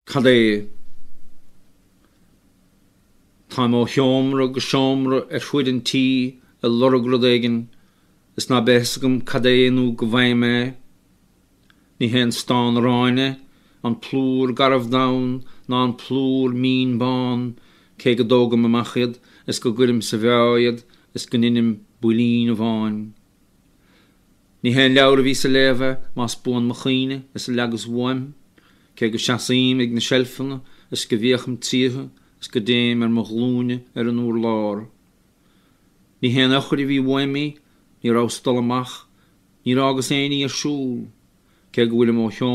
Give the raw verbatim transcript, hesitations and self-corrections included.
Cad é? Táim ó sheomra go seomra ar fuaid an tí ag lorg rud éigin is ná beidh a fhios agam cad é nó go bhfaighim é. Ní hé an stán aráin é, an plúr garbh donn ná an plúr mín bán, cé go dtógaim amach iad is go gcuirim sa mheá iad is go n-inim builín amháin. Ní hé an leabhar a bhíos a léamh é, más buan mo chuimhne is a leagas uaim, cé go seasaím ag na seilfeanna is go bhféachaim tríothu is go dtéim ar mo ghlúine ar an urlár. Ní hé an eochair a bhí uaim í, ní rabhas ag dul amach, níor fhágas aon ní ar siúl, cé go bhfuilim ó sheomra